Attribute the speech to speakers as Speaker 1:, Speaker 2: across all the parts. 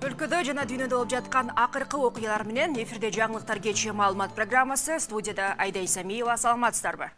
Speaker 1: Өлкөдө жана дүйнөдө болуп жаткан акыркы окуялар менен эфирде жаңылыктар кечи маалымат программасы. Студияда Айда Исамиева. Саламатсыздарбы?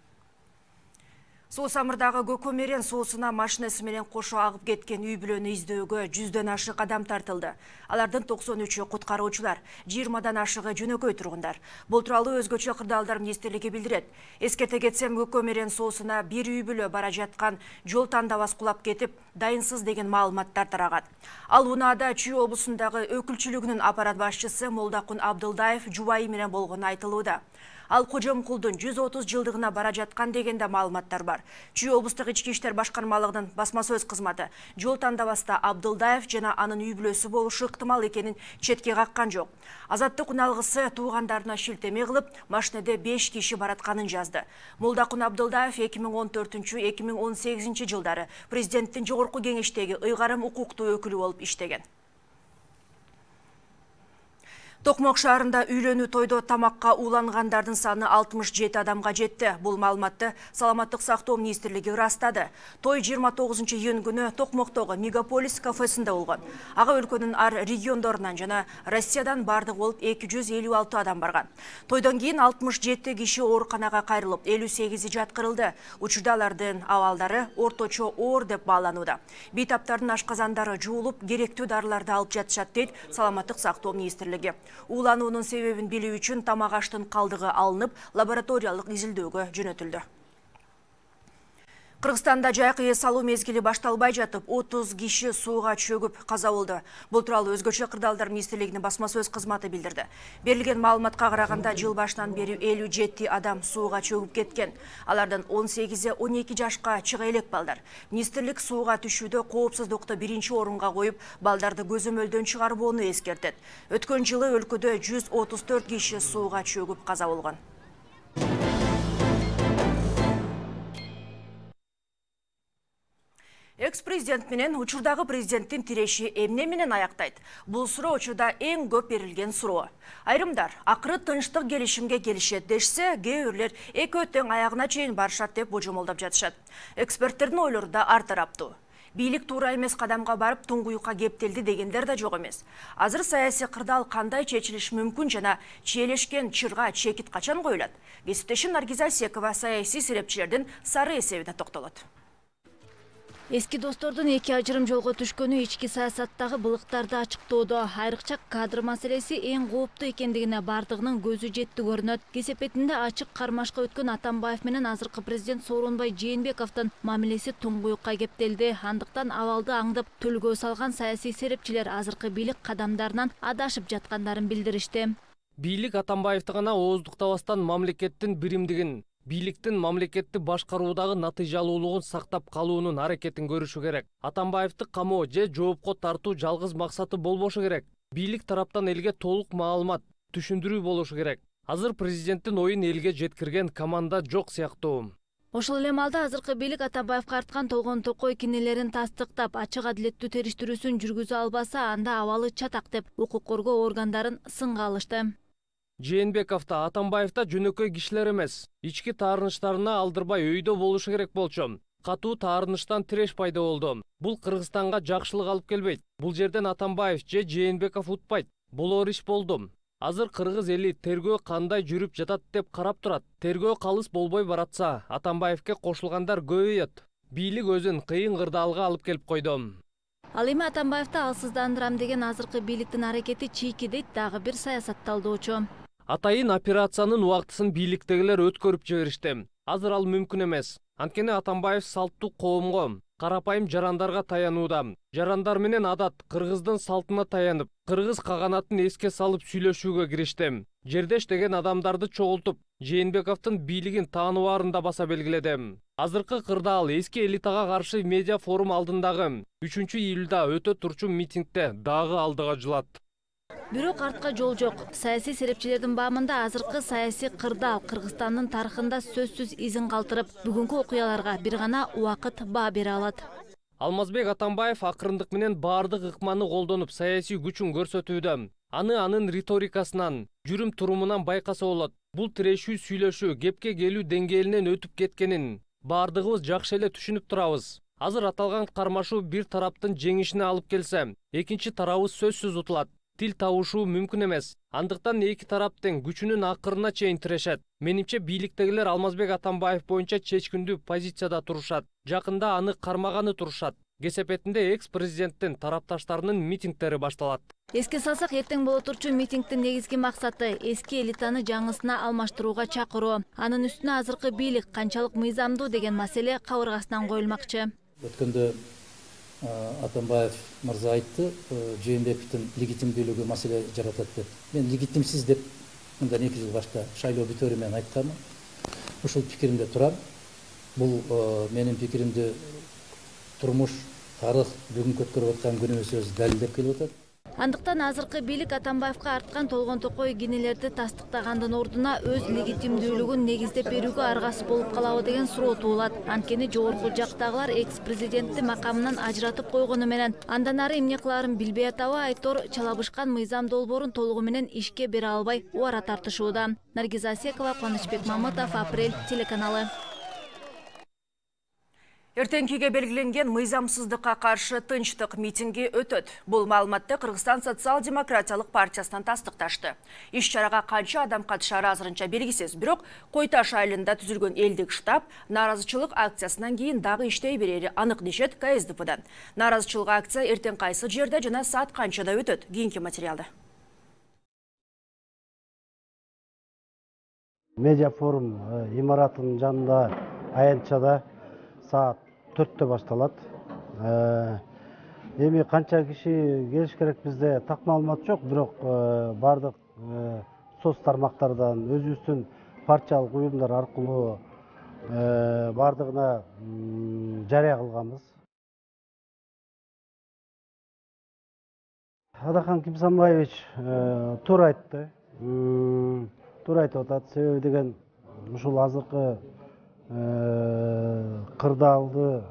Speaker 1: Суу Самырдагы Көкөмерен суусуна машинасы менен кошо агып кеткен үй бүлөнү издөөгө 100дөн ашык адам тартылды. Алардын 93-ü куткаруучулар, 20дан ашыгы жөнөкөй тургундар. Бул тууралуу Өзгөчө кырдаалдар министрлиги билдирет. Эскерте кетсем, Көкөмерен суусуна бир үй бүлө бара жаткан жол тандабас кулап кетип, дайынсыз деген маалыматтар тарагат. Ал унаада Чүй облусундагы өкүлчүлүгүнүн аппарат башчысы Молдакун Абдылдаев жубайы менен болгону айтылууда. Ал Кожомкулдун 130 жылдыгына бара жаткан дегенде маалыматтар бар. Чүй облустук ички иштер башкармалыгынын басма сөз кызматы жол тандабаста Абдылдаев жана анын үй бүлөсү болушу ыктымал экенин четке каккан жок. Азаттык уналгысы туугандарына шилтеме кылып, машинеде 5 киши баратканын жазды. Молдакун Абдылдаев 2014-2018 жылдары президенттин жогорку кеңештеги ыйгарым укуктуу өкүлү болуп иштеген. Токмок шаарында үйлөнүү тойдо тамакка уулангандардын саны 67 адамга жетти. Бул маалыматты Саламаттык сактоо министрлиги ырастады. Той 29-июнь күнү Токмоктогу Мегаполис кафесинде болгон. Ага өлкөнүн ар региондорунан жана Россиядан бардыгы болуп 256 адам барган. Тойдон кийин 67 киши ооруканага кайрылып, 58-и жаткырылды. Учурда алардын абалдары орточо оор деп бааланууда. Бейтаптардын ашказандары жуулуп, керектүү дарыларды алып жатышат дейт Саламаттык сактоо министрлиги. Уулануунун себебин билүү үчүн тамак аштын калдыгы алынып, лабораториялык изилдөөгө жөнөтүлдү. Кыргызстанда жайкы эс алуу мезгили башталбай жатып, 30 киши сууга чөгүп каза болду. Бул тууралуу Өзгөчө кырдаалдар министрлигинин басма сөз кызматы билдирди. Берилген маалыматка караганда, жыл башынан бери 57 адам сууга чөгүп кеткен. Алардын 18-12 жашка чыга элек балдар. Министрлик сууга түшүүдө коопсуздукту биринчи орунга коюп, балдарды көзөмөлдөн чыгарбоону эскертет. Өткөн жылы өлкөдө 134 киши сууга чөгүп каза болгон. Экс-президент менен учурдагы президенттин тиреши эмне менен аяктайт? Бул суроо учурда эң көп берилген суроо. Айрымдар акыры тынчтык келишимге келишет дешсе, кээ бирлер экөө тең аягына чейин барышат деп божомолдоп жатышат. Эксперттердин ойлору да ар тараптуу. Бийлик туура эмес кадамга барып туңгуюкка кептелди дегендер да жок эмес. Азыр саясий кырдаал кандай чечилиш мүмкүн жана чиелешкен чырга чекит качан коюлат? Кесиптешим Наргиза Секова саясий серепчилердин сары эсебине токтолот.
Speaker 2: Эски достордун эки ажырым жолго түшкөнү ички саясаттагы былыктарды ачыктоодо, айрыкча кадр маселеси эң кооптуу экендигине бардыгынын көзү жетти көрүнөт. Кесепетинде ачык кармашка өткөн Атамбаев менен азыркы президент Сооронбай Жээнбековдун мамилеси туңгуюкка кептелди. Андыктан абалды аңдып төлгө салган саясий серепчилер азыркы бийлик кадамдарынан адашып жаткандарын билдиришти.
Speaker 3: Бийлик Атамбаевди гана ооздуктабастан мамлекеттин биримдигин, бийликтин мамлекетти башкаруудагы натыйжалуулугун сактап калуунун аракетин көрүшү керек. Атамбаевди камоо же жоопко тартуу жалгыз максаты болбошу керек. Бийлик тараптан элге толук маалымат, түшүндүрүү болушу керек. Азыр президенттин оюн элге жеткирген команда жок сыяктуу.
Speaker 2: Ошол эле маалда азыркы бийлик Атамбаевге арткан толгон токой кинелерин тастыктап, ачык адилеттүү териштирүүсүн жүргүзө албаса, анда абалы чатак деп укук коргоо органдарын сынга алышты.
Speaker 3: Жээнбековдо, Атамбаевда жөнөкөй кишилер эмес. Ички таарынычтарына алдырбай өйдө болушу керек болчу. Катуу таарынычтан тиреш пайда болду. Бул Кыргызстанга жакшылык алып келбейт. Бул жерден Атамбаев же Жээнбеков утпайт. Болор иш болду. Азыр кыргыз эли тергөө кандай жүрүп жатат деп карап турат. Тергөө калыс болбой баратса, Атамбаевке кошулгандар көбөйөт. Бийлик өзүн кыйын кырдаалга алып келип койду.
Speaker 2: Ал эми Атамбаевди алсыздандырам деген азыркы бийликтин аракети чийки дейт дагы бир саясатталдоочу.
Speaker 3: Атайын операциянын убактысын бийликтегилер өткөрүп жиберишти. Азыр ал мүмкүн эмес. Анткени Атамбаев салттуу коомго, карапайым жарандарга таянууда. Жарандар менен адат кыргыздын салтына таянып, кыргыз каганатын эске салып сүйлөшүүгө киришти. Жердеш деген адамдарды чогултуп, Жээнбековдун бийлигин тааныбаарын да баса белгиледи. Азыркы кырдаал эски элитага каршы медиа форум алдындагы 3-июлда өтө турчу митингде дагы алдыга жылат.
Speaker 2: Бирок артка жол жок. Саясий серепчилердин баамында азыркы саясий кырдаал Кыргызстандын тарыхында сөзсүз изин калтырып, бүгүнкү окуяларга бир гана убакыт баа бере алат.
Speaker 3: Алмазбек Атамбаев акырындык менен баардык ыкманы колдонуп саясий күчүн көрсөтүүдө. Анын риторикасынан, жүрүм турумунан байкаса болот. Бул тирешүү сүйлөшүү, кепке келүү деңгээлинен өтүп кеткенин баардыгыбыз жакшы эле түшүнүп турабыз. Азыр аталган кармашуу бир тараптын жеңишине алып келсе, экинчи тарабы сөзсүз утулат. Тил табышуу мүмкүн эмес. Андыктан эки тарап тең күчүнүн акырына чейин тирешет. Менимче бийликтегилер Алмазбек Атамбаев боюнча чечкиндүү позицияда турушат. Жакында аны кармаганы турушат. Кесепетинде экс-президенттин тарапташтарынын митингдери башталат.
Speaker 2: Эске салсак, эртең боло турчу митингдин негизги максаты эски элитаны жаңысына алмаштырууга чакыруу. Анын үстүнө азыркы бийлик канчалык мыйзамдуу деген маселе кабыргасынан коюлмакчы.
Speaker 4: Өткөндө Атамбаев мырза айтты, Жээнбековдун легитимдүүлүгү маселе жаратат деп. Мен легитимсиз деп мындан 2 жыл башка шайлоо бүтөөрү менен айтканмын. Ушул пикиримде турам. Бул менин пикиримди турмуш, тарых бүгүнкү өткөрүп аткан күнүбүз өзү далилдеп келип атат.
Speaker 2: Андыктан азыркы бийлик Атамбаевка арткан толгон токой кинелерди тастыктагандын ордуна өз легитимдүүлүгүн негиздеп берүүгө аргасыз болуп калабы деген суроо туулат. Анткени жогорку жактагылар экс-президентти макамынан ажыратып койгону менен андан ары эмне кылаарын билбей атабы айтор чалабышкан мыйзам долбоорун толугу менен ишке бере албай убара тартышууда. Наргиза Асекова, Кубанычбек Мамытов, Апрель телеканалы.
Speaker 1: Эртеңкиге белгиленген мыйзамсыздыкка каршы тынчтык митинги өтөт. Бул маалыматты Кыргызстан социал-демократиялык партиясынан тастыкташты. Иш-чарага канча адам катышары азырынча белгисиз, бирок Кой Таш айылында түзүлгөн элдик штаб нааразычылык акциясынан кийин дагы иштей берери анык дешет КСДПдан. Нааразычылык акция эртең кайсы жерде жана саат канчада өтөт? Кийинки материалда.
Speaker 5: Медиа форум имаратынын жанында аянтчада саат 4-тө башталат. Эми канча киши келиш керек бизде так маалымат жок, бирок бардык соц тармактардан өзүбүздүн партиялык уюмдар аркылуу бардыгына жарыя кылганбыз. Адахан Кимсанбаевич туура айтты. Туура айтып атат. Себеби деген ушул азыркы кырдаалды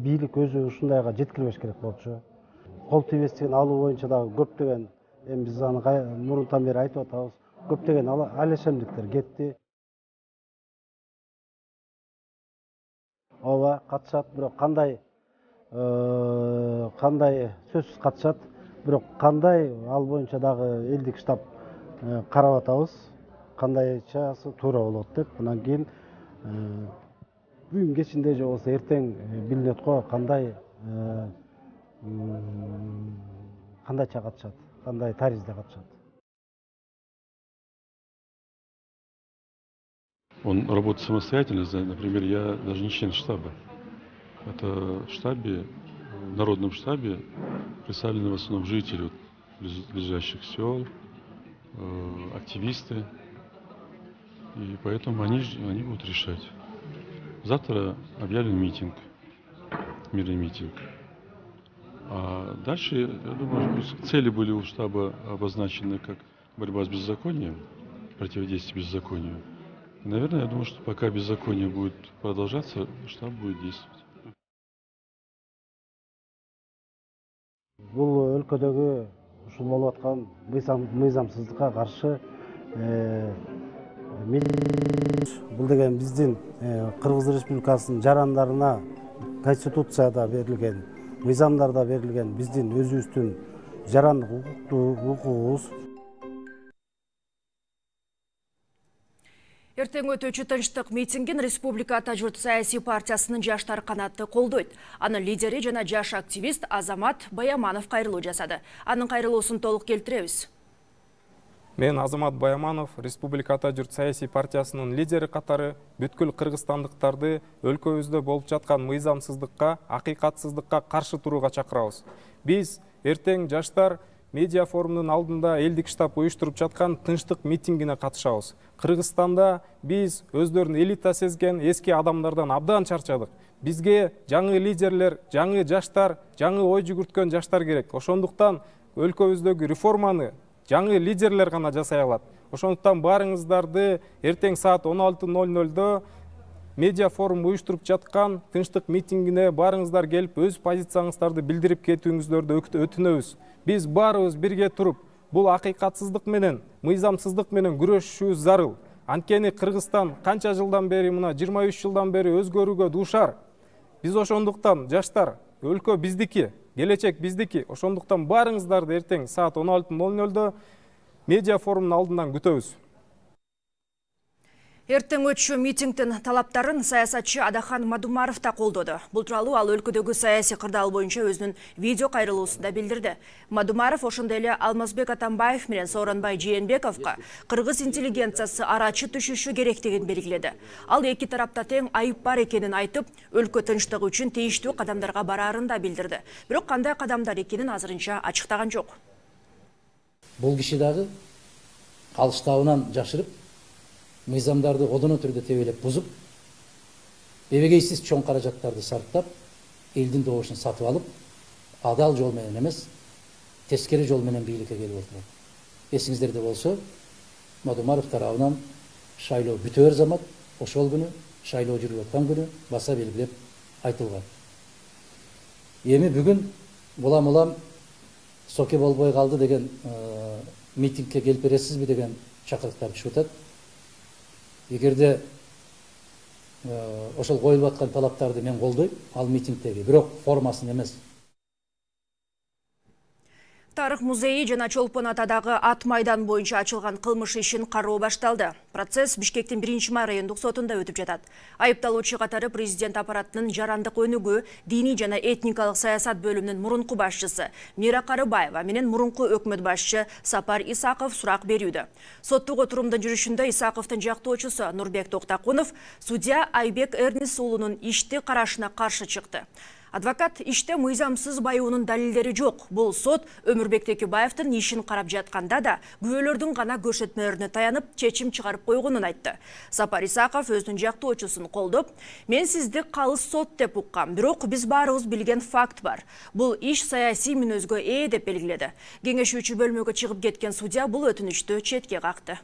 Speaker 5: бийлик өзү ушундайга жеткирбеш керек болчу. Кол тийбестигин алуу боюнча дагы көптөгөн, эми биз аны мурунтан бери айтып атабыз, көптөгөн алешемдиктер кетти. Ооба, катышат, бирок кандай сөзсүз катышат, бирок кандай ал боюнча дагы элдик штаб карап атабыз, кандайчасы туура болот деп. Анан кийин бүгүн кечинде же болбосо эртең билинет го кандайча катышат, кандай таризде катышат.
Speaker 6: Он работает самостоятельно, например, я даже не член штаба. Это в штабе, в народном штабе представлены в основном жители ближайших сел, активисты. И поэтому они будут решать. Завтра объявлен митинг, мирный митинг. А дальше, я думаю, цели были у штаба обозначены как борьба с беззаконием, противодействие беззаконию. И, наверное, я думаю, что пока беззаконие будет продолжаться, штаб будет действовать.
Speaker 5: Бул өлкөдөгү ушул болуп аткан мыйзамсыздыкка каршы бул деген биздин Кыргыз Республикасынын жарандарына Конституцияда берилген, мыйзамдарда берилген биздин өзүбүздүн жарандык укугубуз.
Speaker 1: Эртең өтүүчү тынчтык митингин Республика Ата журт саясий партиясынын жаштар канаты колдойт. Анын лидери жана жаш активист Азамат Баяманов кайрылуу жасады. Анын кайрылуусун толук келтиребиз.
Speaker 7: Мен Азамат Баяманов, Республика Ата журт саясий партиясынын лидери катары бүткүл кыргызстандыктарды өлкөбүздө болуп жаткан мыйзамсыздыкка, акыйкатсыздыкка каршы турууга чакырабыз. Биз эртең жаштар медиа форумунун алдында элдик штаб уюштуруп жаткан тынчтык митингине катышабыз. Кыргызстанда биз өздөрүн элита сезген эски адамдардан абдан чарчадык. Бизге жаңы лидерлер, жаңы жаштар, жаңы ой жүгүрткөн жаштар керек. Ошондуктан өлкөбүздөгү реформаны жаңы лидерлер гана жасай алат. Ошондуктан барыңыздарды эртең саат 16:00 медиа форум уюштуруп жаткан тынчтык митингине барыңыздар келип, өз позицияңыздарды билдирип кетүүңүздөрдү өтүнөбүз. Биз баарыбыз бирге туруп, бул акыйкатсыздык менен, мыйзамсыздык менен күрөшүшүбүз зарыл. Анткени Кыргызстан канча жылдан бери, мына 23 жылдан бери өзгөрүүгө дуушар. Биз ошондуктан жаштар, өлкө биздики, келечек биздики. Ошондуктан баарыңыздарды эртең саат 16:00 медиа форумдун алдынан күтөбүз.
Speaker 1: Эртең өтчү митингдин талаптарын саясатчы Адахан Мадумаров да колдоду. Бул тууралуу ал өлкөдөгү саясий кырдаал боюнча өзүнүн видео кайрылуусунда билдирди. Мадумаров ошондой эле Алмазбек Атамбаев менен Сооронбай Жээнбековго кыргыз интеллигенциясы арачы түшүшү керектигин белгиледи. Ал эки тарапта тең айып бар экенин айтып, өлкө тынчтыгы үчүн тийиштүү кадамдарга бараарын да билдирди. Бирок кандай кадамдар экенин азырынча ачыктаган жок.
Speaker 4: Бул киши дагы калыштабынан жашырып, мыйзамдарды одоно түрдө тебелеп бузуп, эбегейсиз чоң каражаттарды сарптап, элдин добушун сатып алып, адал жол менен эмес, тескери жол менен бийликке келип отурат. Эсиңиздерде болсо, Мадумаров тарабынан шайлоо бүтөөр замат, ошол күнү, шайлоо жүрүп аткан күнү баса белгилеп айтылган. Эми бүгүн улам соке болбой калды деген митингке келип бересизби деген чакырыктар түшүп атат. Эгерде ошол коюлуп аткан талаптарды мен колдойм, ал митингдеги, бирок формасын эмес.
Speaker 1: Тарых музейи жана Чолпон Атадагы ат майдан боюнча ачылган кылмыш ишин кароо башталды. Процесс Бишкектин 1-май райондук сотунда өтүп жатат. Айыпталуучу катары президент аппаратынын жарандык өнүгүү, диний жана этникалык саясат бөлүмүнүн мурунку башчысы Мира Карыбаева менен мурунку өкмөт башчы Сапар Исаков сурак берүүдө. Соттук отурумдун жүрүшүндө Исаковдун жактоочусу Нурбек Токтакунов судья Айбек Эрнис уулунун ишти карашына каршы чыкты. Адвокат иште мыйзамсыз байуунун далилдери жок. Бул сот Өмүрбек Текебаевдин ишин карап жатканда да күбөлөрдүн гана көрсөтмөлөрүнө таянып чечим чыгарып койгонун айтты. Сапар Исаков өзүнүн жактоочусун колдоп, "Мен сизди калыс сот деп уккам, бирок биз баарыбыз билген факт бар. Бул иш саясий мүнөзгө деп белгиледи. Кеңешүүчү бөлмөгө чыгып кеткен судья бул өтүнүчтү четке какты.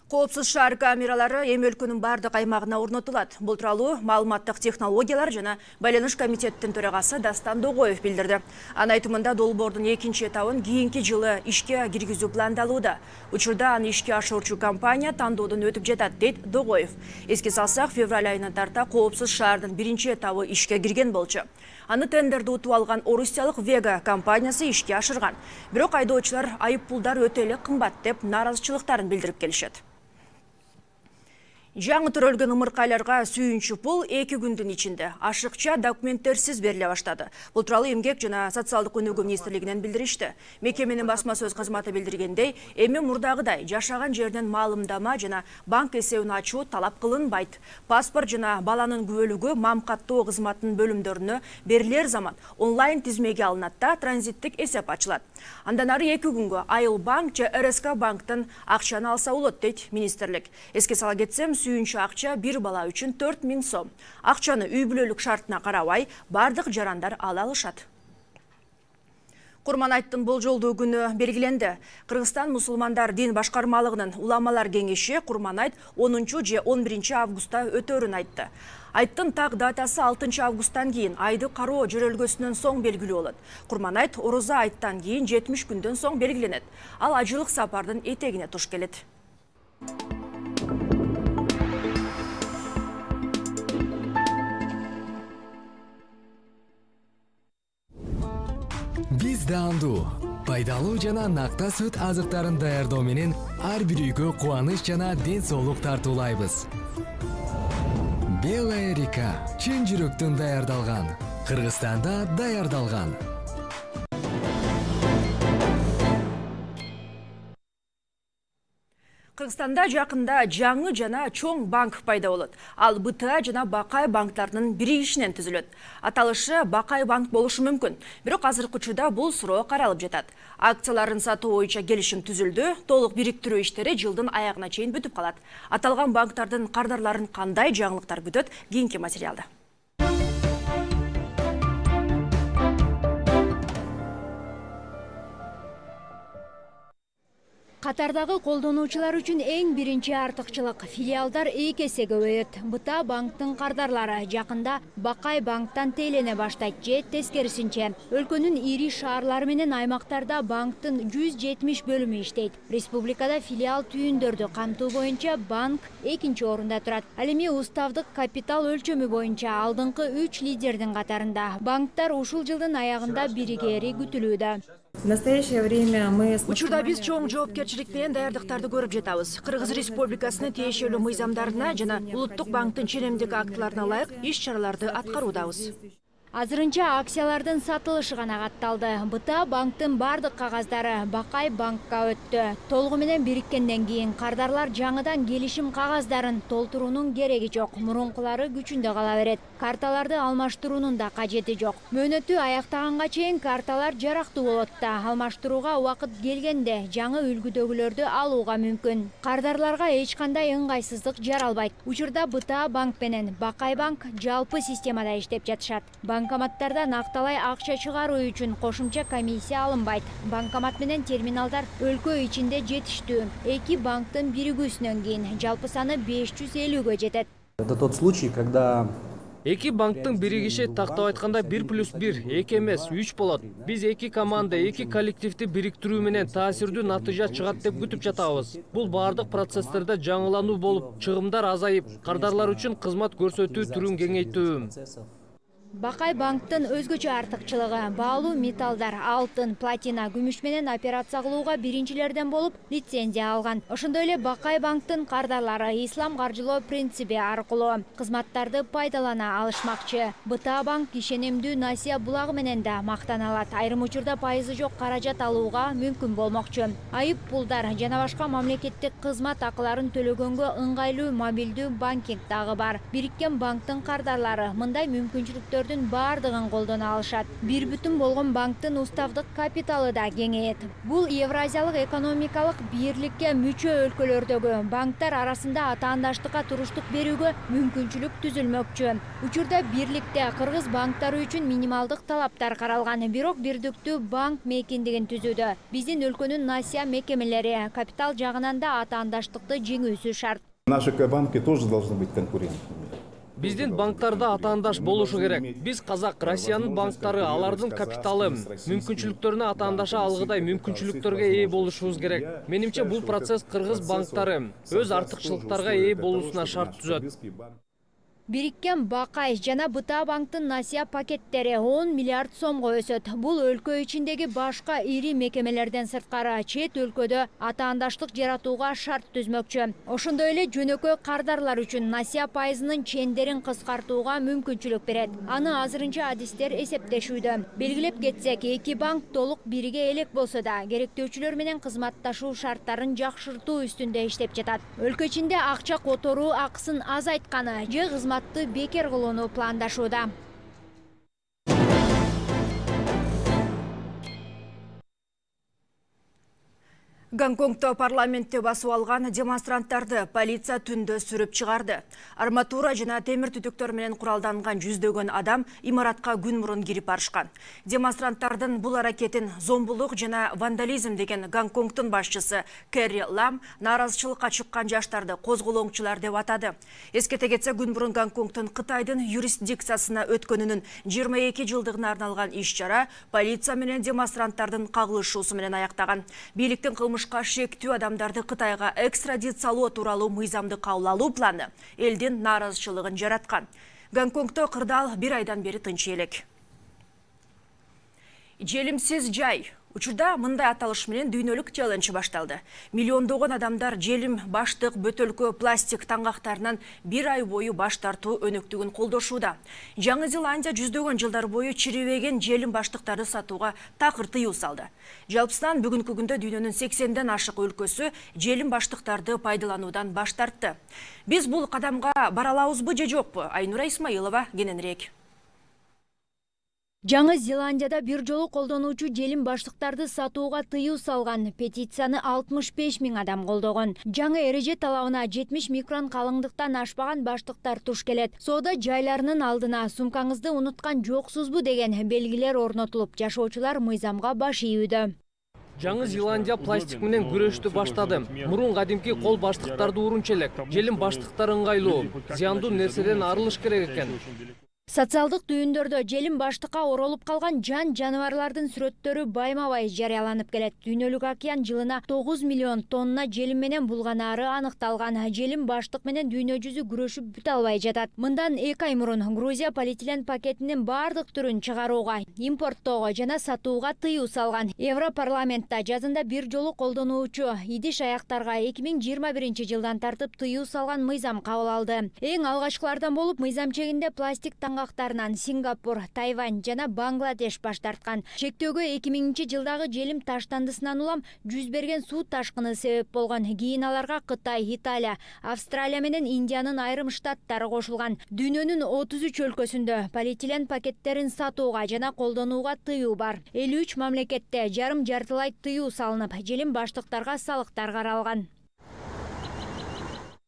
Speaker 1: Коопсуз шаар камералары эми өлкөнүн бардык аймагына орнотулат. Бул тууралуу маалыматтык технологиялар жана байланыш комитеттин төрагасы Дастан Догоев билдирди. Анын айтымында долбоордун экинчи этабын кийинки жылы ишке киргизүү пландалууда. Учурда аны ишке ашыруучу компания тандоодон өтүп жатат, дейт Догоев. Эске салсак, февраль айынан тарта коопсуз шаардын биринчи этабы ишке кирген болчу. Аны тендерди утуп алган орусиялык Вега компаниясы ишке ашырган. Бирок айдоочулар айып пулдар өтө эле кымбат деп нааразычылыктарын билдирип келишет. Жаңы төрөлгөн ымыркайларга сүйүнчү пул 2 күндүн ичинде ашыкча документтерсиз бериле баштады. Бул тууралуу Эмгек жана социалдык өнүгүү министрлигинен билдиришти. Мекеменин басма сөз кызматы билдиргендей, эми мурдагыдай жашаган жерден маалымдама жана банк эсебин ачуу талап кылынбайт. Паспорт жана баланын күбөлүгү мам каттоо кызматынын бөлүмдөрүнө берилер замат онлайн тизмеге алынат да транзиттик эсеп ачылат. Андан ары 2 күнгө Айыл банк же РСК банктын акчаны алса болот, дейт министрлик. Эске сала кетсем, сүйүнчү акча бир бала үчүн 4000 сом. Акчаны үй бүлөлүк шартына карабай бардык жарандар ала алышат. Курманайттын болжолдуу күнү белгиленди. Кыргызстан мусулмандар дин башкармалыгынын уламалар кеңеши Курманайт 10 же 11 августта өтөрүн айтты. Айттын так датасы 6 августтан кийин айды кароо жөрөлгөсүнөн соң белгилүү болот. Курманайт ороза айттан кийин 70 күндөн соң белгиленет. Ал ажылык сапардын этегине туш келет.
Speaker 8: Биз даандуу, пайдалуу жана накта сүт азыктарын даярдоо менен ар бир үйгө кубаныч жана ден соолук тартуулайбыз. Белая река чын жүрөктөн даярдалган, Кыргызстанда даярдалган.
Speaker 1: Кыргызстанда жакында жаңы жана чоң банк пайда болот. Ал БТА жана Бакай банктарынын биригишинен түзүлөт. Аталышы Бакай банк болушу мүмкүн. Бирок азыркы учурда бул суроо каралып жатат. Акцияларын сатуу боюнча келишим түзүлдү. Толук бириктирүү иштери жылдын аягына чейин бүтүп калат. Аталган банктардын кардарларын кандай жаңылыктар күтөт? Кийинки материалда.
Speaker 9: Катардагы колдонуучулар үчүн эң биринчи артыкчылык филиалдар 2 эсе көбөйөт. Быта банктын кардарлары жакында Бакай банктан тейлене баштайт же тескерисинче. Өлкөнүн ири шаарлары менен аймактарда банктын 170 бөлүмү иштейт. Республикада филиал түйүндөрдү камтуу боюнча банк 2-нчи орунда турат. Ал эми уставдык капитал өлчөмү боюнча алдыңкы 3 лидердин катарында. Банктар ушул жылдын аягында биригери күтүлүүдө.
Speaker 10: В настоящее время мы...
Speaker 1: Учурда биз чоң жоопкерчилик менен даярдыктарды көрүп жатабыз. Кыргыз Республикасынын тиешелүү мыйзамдарына жана Улуттук банктын ченемдик актыларына ылайык иш-чараларды аткаруудабыз.
Speaker 9: Азырынча акциялардын сатылышы гана катталды. Быта банктын бардык кагаздары Бакай банкка өттү. Толугу менен бириккенден кийин кардарлар жаңыдан келишим кагаздарын толтуруунун кереги жок. Мурункулары күчүндө кала берет. Карталарды алмаштыруунун да кажети жок. Мөөнөтү аяктаганга чейин карталар жарактуу болот да, алмаштырууга убакыт келгенде жаңы үлгүдөгүлөрдү алууга мүмкүн. Кардарларга эч кандай ыңгайсыздык жаралбайт. Учурда Быта банк менен Бакай банк жалпы системада иштеп жатышат. Банкоматтардан акталай акча чыгаруу үчүн кошумча комиссия алынбайт. Банкомат менен терминалдар өлкө ичинде жетиштүү. 2 банктын биригүүсүнөн кийин жалпы саны 550ге жетет.
Speaker 11: Это тот случай, когда
Speaker 3: 2 банктын биригиши тактап айтканда 1+1 2 эмес 3 болот. Биз 2 команда, 2 коллективди бириктирүү менен таасирдүү натыйжа чыгат деп күтүп жатабыз. Бул бардык процесстерде жаңылануу болуп, чыгымдар азайып, кардарлар үчүн кызмат көрсөтүү түрүн кеңейтүү.
Speaker 9: Бакай банктын өзгөчө артыкчылыгы баалуу металлдар, алтын, платина, күмүш менен операция кылууга биринчилерден болуп лицензия алган. Ошондой эле Бакай банктын кардарлары ислам каржылоо принципи аркылуу кызматтарды пайдалана алышмакчы. Быта банк ишенимдүү насыя булагы менен да мактаналат. Айрым учурда пайызы жок каражат алууга мүмкүн болмокчу. Айып пулдар жана башка мамлекеттик кызмат акыларын төлөгөнгө ыңгайлуу мобилдүү банкинг дагы бар. Бириккен банктын кардарлары мындай мүмкүнчүлүктөр бардыгын колдоно алышат. Бир бүтүн болгон банктын уставдык капиталы да кеңейет. Бул Евразиялык экономикалык бирликке мүчө өлкөлөрдөгү банктар арасында атаандаштыкка туруштук берүүгө мүмкүнчүлүк түзүлмөкчү. Учурда бирликте кыргыз банктары үчүн минималдык талаптар каралган, бирок бирдиктүү банк мейкиндигин түзүүдө биздин өлкөнүн насыя мекемелери капитал жагынан да атаандаштыкты жеңүүсү шарт.
Speaker 12: Наши банки тоже должны быть конкурентными.
Speaker 3: Биздин банктарда атаандаш болушу керек. Биз Казак, Россиянын банктары алардын капиталы, мүмкүнчүлүктөрүнө атаандаша алгыдай мүмкүнчүлүктөргө ээ болушубуз керек. Менимче бул процесс кыргыз банктары өз артыкчылыктарга ээ болуусуна шарт түзөт.
Speaker 9: Бириккен Бакай жана Быта банктын насыя пакеттери 10 миллиард сомго өсөт. Бул өлкө ичиндеги башка ири мекемелерден сырткары чет өлкөдө атаандаштык жаратууга шарт түзмөкчү. Ошондой эле жөнөкөй кардарлар үчүн насыя пайызынын чендерин кыскартууга мүмкүнчүлүк берет. Аны азырынча адистер эсептешүүдө. Белгилеп кетсек, 2 банк толук бириге элек болсо да, керектөөчүлөр менен кызматташуу шарттарын жакшыртуу үстүндө иштеп жатат. Өлкө ичинде акча которуу акысын азайтканы же кызмат бекер кылууну пландашууда.
Speaker 1: Гонконгто парламентте басып алган демонстранттарды полиция түндө сүрүп чыгарды. Арматура жана темир түтүктөр менен куралданган жүздөгөн адам имаратка күн мурун кирип барышкан. Демонстранттардын бул аракетин зомбулук жана вандализм деген Гонконгдун башчысы Кэрри Лам нааразычылыкка чыккан жаштарды козголоңчулар деп атады. Эскете кетсе, күн мурун Гонконгдун Кытайдын юрисдикциясына өткөнүнүн 22 жылдыгына арналган иш-чара полиция менен демонстранттардын кагылышуусу менен аяктаган. Бийликтин кылмышка шектүү адамдарды Кытайга экстрадициялоо тууралуу мыйзамды кабыл алуу планы элдин нааразычылыгын жараткан. Гонконгдо кырдаал 1 айдан бери тынч элек. Желимсиз жай. Учурда мындай аталыш менен дүйнөлүк челлендж башталды. Миллиондогон адамдар желим, баштык, бөтөлкө, пластик таңгактарынан 1 ай бою баш тартуу өнөктүгүн колдошууда. Жаңы Зеландия жүздөгөн жылдар бою чирибеген желим баштыктарды сатууга такыр тыюу салды. Жалпысынан бүгүнкү күндө дүйнөнүн 80ден ашык өлкөсү желим баштыктарды пайдалануудан баш тартты. Биз бул кадамга бара алабызбы же жокпу? Айнура Исмаилова кененирээк.
Speaker 9: Жаңы Зеландияда бир жолу колдонуучу желим баштыктарды сатууга тыюу салган петицияны 65 000 адам колдогон. Жаңы эреже талабына 70 микрон калыңдыктан ашпаган баштыктар туш келет. Соода жайларынын алдына сумкаңызды унуткан жоксузбу деген белгилер орнотулуп, жашоочулар мыйзамга баш ийүүдө.
Speaker 3: Жаңы Зеландия пластик менен күрөштү баштады. Мурун кадимки кол баштыктарды урунчу элек. Желим баштыктар ыңгайлуу, зыяндуу нерседен арылыш керек экен.
Speaker 9: Социалдык түйүндөрдө желим баштыкка оролуп калган жаныбарлардын сүрөттөрү байма-бай жарыяланып келет. Дүйнөлүк океан жылына 9 миллион тонна желим менен булганары аныкталган. Желим баштык менен дүйнө жүзү күрөшүп бүтө албай жатат. Мындан 2 ай мурун Грузия полиэтилен пакетинин бардык түрүн чыгарууга, импорттоого жана сатууга тыюу салган. Европарламентта жазында бир жолу колдонуучу идиш аяктарга 2021 жылдан тартып тыюу салган мыйзам кабыл алды. Эң алгачкылардан болуп мыйзам чегинде пластик таңгактарынан Сингапур, Тайвань жана Бангладеш баш тарткан. Чектөөгө 2000 жылдагы желим таштандысынан улам жүз берген суу ташкыны себеп болгон. Кийин аларга Кытай, Италия, Австралия менен Индиянын айрым штаттары кошулган. Дүйнөнүн 33 өлкөсүндө полиэтилен пакеттерин сатууга жана колдонууга тыюу бар. 53 мамлекетте жарым-жартылай тыюу салынып, желим баштыктарга салыктар каралган.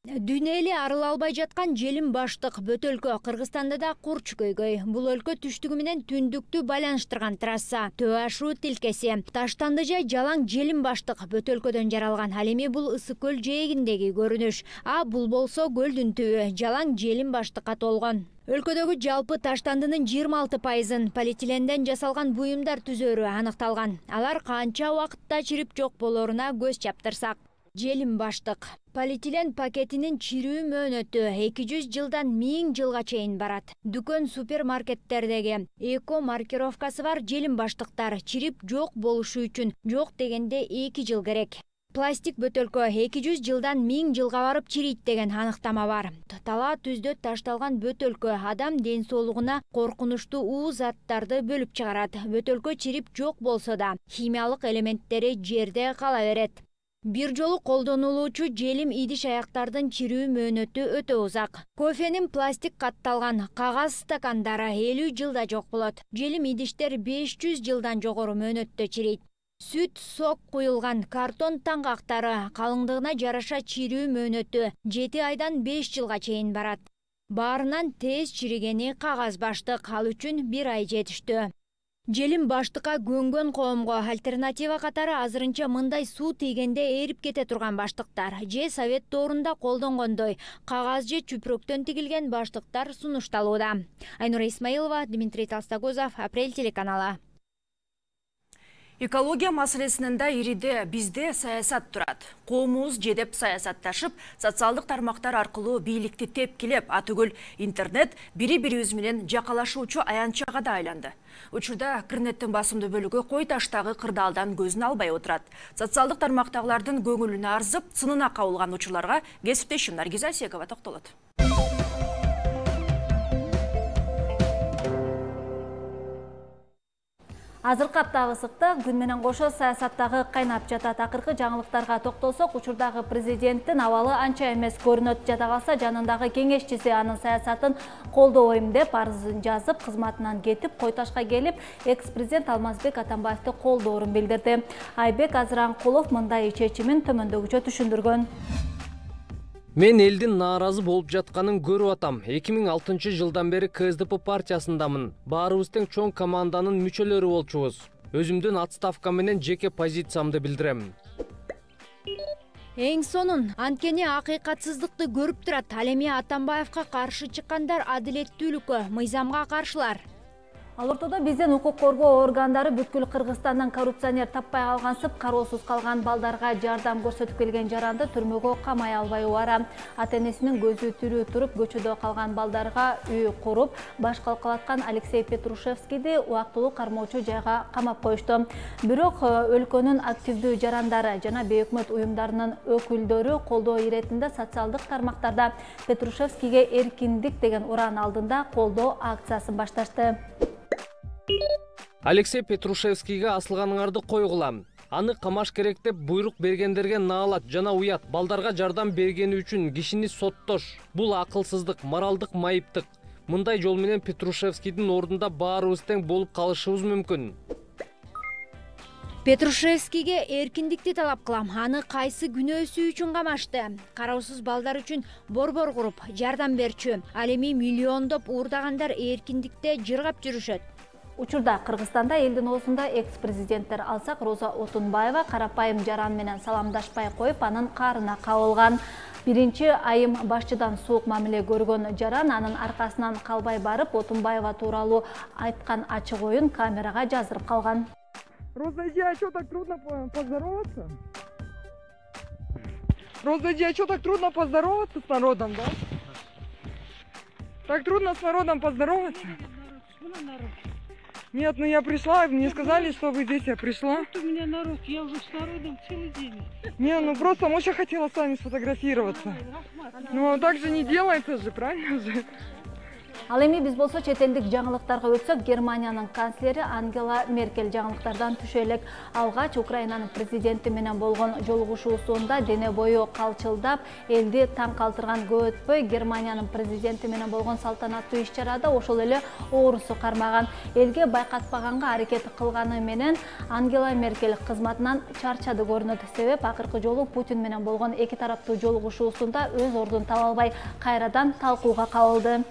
Speaker 9: Дүйнө эли арыла албай жаткан желим баштык бөтөлкө Кыргызстанда да курч көйгөй. Бул өлкө түштүгү менен түндүктү байланыштырган трасса, төө ашуу тилкеси. Таштанды жай жалаң желим баштык бөтөлкөдөн жаралган. Ал эми бул Ысык көл жээгиндеги көрүнүш. Бул болсо көлдүн түбү жалаң желим баштыкка толгон. Өлкөдөгү жалпы таштандынын 26%-ын полиэтиленден жасалган буюмдар түзөрү аныкталган. Алар канча убакытта чирип жок болоруна көз чаптырсак. Желим баштык полиэтилен пакетинин чирүү мөөнөтү 200 жылдан 1000 жылга чейин барат. Дүкөн супермаркеттердеги эко маркировкасы бар желим баштыктар чирип жок болушу үчүн жок дегенде 2 жыл керек. Пластик бөтөлкө 200 жылдан 1000 жылга барып чирийт деген аныктама бар. Талаа түздө ташталган бөтөлкө адам ден соолугуна коркунучтуу уу заттарды бөлүп чыгарат. Бөтөлкө чирип жок болсо да химиялык элементтери жерде кала берет. Бир жолу колдонулуучу желим идиш аяктардын чирүү мөөнөтү өтө узак. Кофенин пластик катталган кагаз стакандары 50 жылда жок болот. Желим идиштер 500 жылдан жогору мөөнөттө чирийт. Сүт, сок куюлган картон таңгактары калыңдыгына жараша чирүү мөөнөтү 7 айдан 5 жылга чейин барат. Баарынан тез чиригени кагаз баштык, ал үчүн 1 ай жетиштүү. Желим баштыкка көнгөн коомго альтернатива катары азырынча мындай суу тийгенде эрип кете турган баштыктар же совет доорунда колдонгондой кагаз же чүпрөктөн тигилген баштыктар сунушталууда. Айнура Исмаилова, Дмитрий Толстогузов, Апрель телеканалы.
Speaker 1: Экология маселесинин да ириде бизде саясат турат. Коомубуз жедеп саясатташып, социалдык тармактар аркылуу бийликти тепкилеп, атүгүл интернет бири-бирибиз менен жакалашуучу аянтчага да айланды. Учурда интернеттин басымдуу бөлүгү кой таштагы кырдаалдан көзүн албай отурат. Социалдык тармактагылардын көңүлүнө арзып, сынына кабылган учурларга кесиптешим Наргиза Секова токтолот.
Speaker 13: Азыркы аптагы ысыкта күн менен кошо саясаттагы кайнап жатат. Акыркы жаңылыктарга токтолсок, учурдагы президенттин абалы анча эмес көрүнөт. Жада калса жанындагы кеңешчиси анын саясатын колдобойм деп арызын жазып, кызматынан кетип, кой ташка келип, экс-президент Алмазбек Атамбаевди колдоорун билдирди. Айбек Азыранкулов мындай чечимин төмөндөгүчө түшүндүргөн.
Speaker 3: Мен элдин нааразы болуп жатканын көрүп атам. 2006 жылдан бери КСДП партиясындамын. Баарыбыз тең чоң команданын мүчөлөрү болчубуз. Өзүмдүн отставка менен жеке позициямды билдирем.
Speaker 9: Эң сонун, анткени акыйкатсыздыкты көрүп турат. Ал эми Атамбаевка каршы чыккандар адилеттүүлүккө, мыйзамга каршылар.
Speaker 13: Ал ортодо биздин укук коргоо органдары бүткүл Кыргызстандан коррупционер таппай калгансып, кароосуз калган балдарга жардам көрсөтүп келген жаранды түрмөгө камай албай убара. Ата-энесинин көзү тирүү туруп, көчөдө калган балдарга үй куруп, баш калкалаткан Алексей Петрушевскийди убактылуу кармоочу жайга камап коюшту. Бирок өлкөнүн активдүү жарандары жана бейөкмөт уюмдарынын өкүлдөрү колдоо иретинде социалдык тармактарда Петрушевскийге эркиндик деген уран алдында колдоо акциясын башташты.
Speaker 3: Алексей Петрушевскийге асылганыңарды койгула. Аны камаш керек деп буйрук бергендерге наалат жана уят. Балдарга жардам бергени үчүн кишини соттош. Бул акылсыздык, моралдык майыптык. Мындай жол менен Петрушевскийдин ордунда баарыбыз тең болуп калышыбыз мүмкүн.
Speaker 9: Петрушевскийге эркиндикти талап кылам. Аны кайсы күнөөсү үчүн камашты? Кароосуз балдар үчүн борбор куруп, жардам берчү. Ал эми миллиондоп уурдагандар эркиндикте жыргап жүрүшөт.
Speaker 13: Учурда Кыргызстанда элдин оозунда экс-президенттер алсак, Роза Отунбаева карапайым жаран менен саламдашпай коюп, анын каарына кабылган. Биринчи айым башчыдан суук мамиле көргөн жаран анын аркасынан калбай барып, Отунбаева тууралуу айткан ачык оюн камерага жаздырып калган.
Speaker 14: Роза, а что так трудно поздороваться? Роза, а что так трудно поздороваться с народом, да? Так трудно с народом поздороваться? Нет, ну я пришла, мне сказали, что вы здесь, я пришла.
Speaker 15: Вот у меня народ, я уже с народом целый день.
Speaker 14: Не, ну просто Моша хотела с вами сфотографироваться. Ну так же не делается же, правильно же?
Speaker 13: Ал эми биз болсо чет элдик жаңылыктарга өтсөк, Германиянын канцлери Ангела Меркель жаңылыктардан түшө элек. Алгач Украинанын президенти менен болгон жолугушуусунда дене бою калчылдап, элди таң калтырган көп өтпөй Германиянын президенти менен болгон салтанаттуу иш-чарада ошол эле оорусу кармаган. Элге байкатпаганга аракет кылганы менен Ангела Меркель кызматынан чарчады көрүнөт. Себеп акыркы жолу Путин менен болгон эки тараптуу жолугушуусунда өз ордун таба албай кайрадан талкууга кабылды.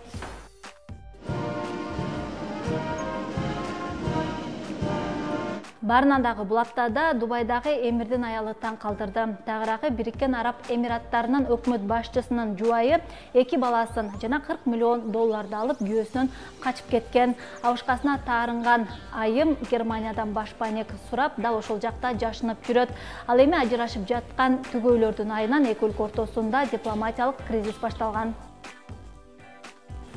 Speaker 13: Барынан дагы бул аптада Дубайдагы эмирдин аялы таң калтырды. Тагыраагы Бириккен Араб Эмираттарынын өкмөт башчысынын жубайы 2 баласын жана $40 миллион алып күйөөсүнөн качып кеткен. Абышкасына таарынган айым Германиядан башпайнек сурап, дал ошол жакта жашынып жүрөт. Ал эми ажырашып жаткан түгөйлөрдүн айынан эки өлкө ортосунда дипломатиялык кризис башталган.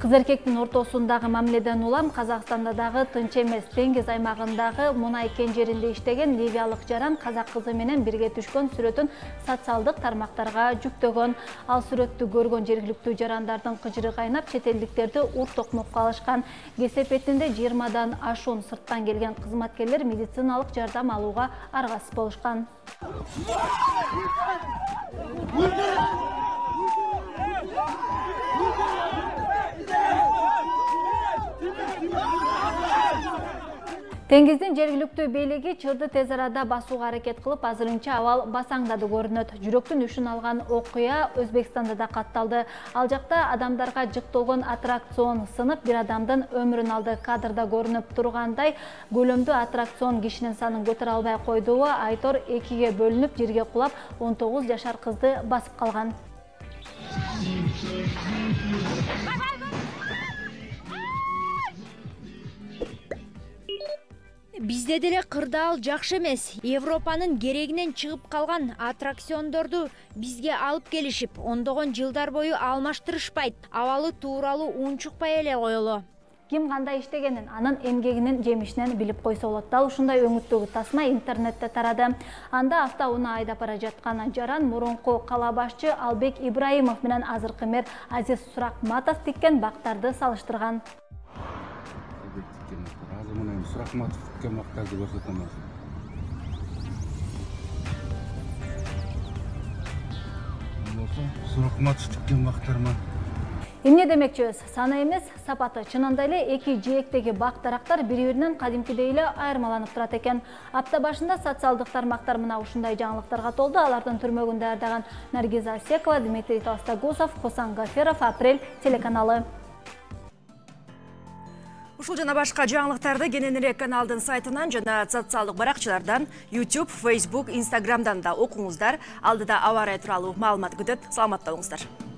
Speaker 13: Кыз эркектин ортосундагы мамиледен улам Казакстанда дагы тынч эмес. Деңиз аймагындагы мунай кен жеринде иштеген ливиялык жаран казак кызы менен бирге түшкөн сүрөтүн социалдык тармактарга жүктөгөн. Ал сүрөттү көргөн жергиликтүү жарандардын кыжыры кайнап, чет элдиктерди ур-токмокко алышкан. Кесепетинде 20дан ашуун сырттан келген кызматкерлер медициналык жардам алууга аргасыз болушкан. Деңиздин жергиликтүү бийлиги чырды тез арада басууга аракет кылып, азырынча абал басаңдады көрүнөт. Жүрөктүн үшүн алган окуя Өзбекстанда да катталды. Ал жакта адамдарга жыктолгон аттракцион сынып, бир адамдын өмүрүн алды. Кадрда көрүнүп тургандай, көлөмдүү аттракцион кишинин санын көтөрө албай койду. Айтор 2ге бөлүнүп, жерге кулап, 19 жашар кызды басып калган.
Speaker 9: Бизде деле кырдаал жакшы эмес. Европанын керегинен чыгып калган аттракциондорду бизге алып келишип, ондогон жылдар бою алмаштырышпайт. Абалы тууралуу унчукпай эле коелу.
Speaker 13: Ким кандай иштегенин, анын эмгегинин жемишинен билип койсо болот. Дал ушундай өңүттөгү тасма интернетте тарады. Анда автоунаа айдап бара жаткан жаран мурунку кала башчы Албек Ибраимов менен азыркы мэр Азиз Суракматов тиккен бактарды салыштырган.
Speaker 16: Суракматов тиккен бактарды көрсөтөм. Суракматов тиккен бактарма.
Speaker 13: Эмне демекчибиз? Саны эмес, сапаты. Чынында эле эки жээктеги бак-дарактар бири-биринен кадимкидей эле айырмаланып турат экен. Апта башында социалдык тармактар мына ушундай жаңылыктарга толду. Алардын түрмөгүн даярдаган Наргиза Асекова, Дмитрий Толстогусов, Хусан Гаферов, Апрель телеканалы.
Speaker 1: Ушул жана башка жаңылыктарды кененирээк каналдын сайтынан жана социалдык баракчалардан, YouTube, Facebook, Instagram'дан да окуңуздар. Алдыда аба ырайы тууралуу маалымат күтөт. Саламатта болуңуздар.